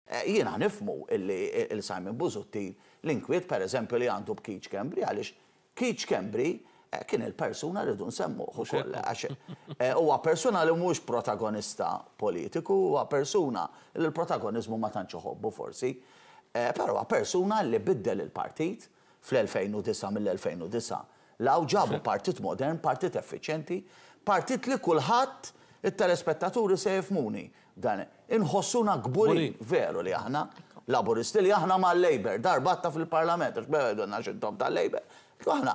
Jiena nifhmu illi il Simon Busuttil l-inkwiet pereżempju li għandu b'Keith Schembri għaliex Keith Schembri kien il-persuna rridu nsemmuh ukoll għax huwa persuna li mhuwiex protagonista politiku, huwa persuna li l-protagoniżmu ma tantx iħobbu forsi, però huwa persuna li biddel il-partit fl-2009 mill-2009 'l hawn ġabu partit modern, partit effiċjenti, partit li kulħadd, it-telespettaturi se jifhmuni, dan inħossuna kburin veru li aħna Laburisti li aħna mal-Labour, darba għadtha fil-Parlament, għax bdew jgħidulna għax intom tal-Labour. Aħna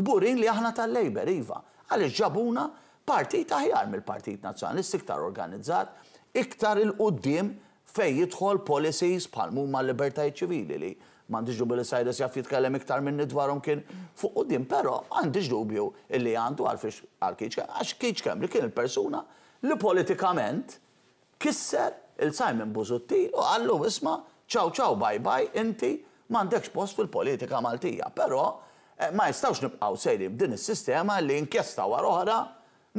kburin li aħna tal-Labour, iva, għaliex ġabuna partit aħjar mill-Partit Nazzjonalista, iktar organizzat, iktar 'il quddiem fejn jidħol policies bħal m'huma l-libertajiet ċivili li m'għandix dubju li Cyrus jaf jitkellem iktar minni dwarhom kien fuq quddiem, però m'għandix dubju illi għandu għalfiex għal Keith Schembri, għax Keith Schembri kien il-persuna li politikament kisser 'il Simon Busuttil u qallu isma' ciao ciao bye bye inti m'għandekx post fil-politika Maltija. Però ma jistgħux nibqgħu sejrin b'din is-sistema li inkjesta wara oħra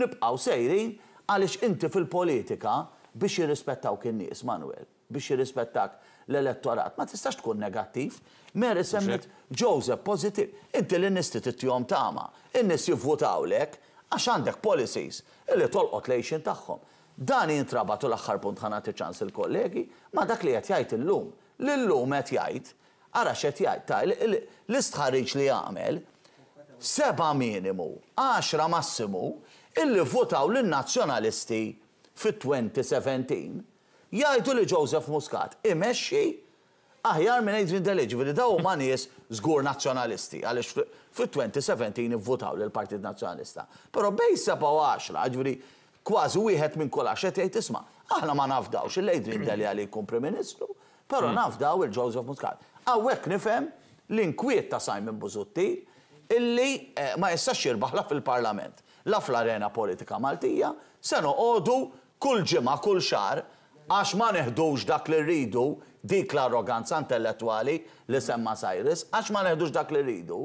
nibqgħu sejrin għaliex inti fil-politika biex jirrispettawk in-nies, Manuel. Biex jirrispettak l-elettorat. Ma tistax tkun negattiv. Mary semmiet Joseph pożittiv. Inti lin-nies trid ittihom tama. In-nies jivvutawlek għax għandek policies illi tolqot l-għixien tagħhom. Dan jintrabat u l-aħħar punt ħa nagħti ċans lill-kollegi ma' dak li qed jgħid illum. Li llum qed jgħid, ara x'qed jgħid, ta' l-istħarriġ li għamel, sebgħa minimu, għaxra massimu, illi vvutaw lin-Nazzjonalisti fit-2017 Jgħidu li Joseph Muscat imexxi aħjar minn Adrian Delia, jiġifieri dawn huma nies żgur Nazzjonalisti għaliex fit-2017 ivvutaw lill-Partit Nazzjonalista. Però bejn sebgħa u għaxra, jiġifieri kważi wieħed minn kull għaxra qed jgħid isma' aħna ma nafdawx lil Adrian Delia li jkun Prim Ministru, però nafdaw 'il Joseph Muscat. Hawnhekk nifhem l-inkwiet ta' Simon Busuttil illi ma jistax jirbaħ la fil-Parlament, la fl-arena politika Maltija, se noqogħdu Kull ġimgħa, kull xahar, għax ma neħdux dak li rridu, dik l-arroganza intellettwali li semma Cyrus, għax ma neħdux dak li rridu,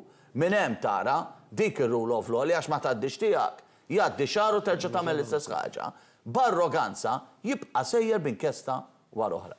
minn hemm tara dik ir-rule of law li għax ma tgħaddix tiegħek, jgħaddi xahar u terġa' tagħmel l-istess ħaġa, b'arroganza jibqa' sejjer b'inkjesta wara oħra.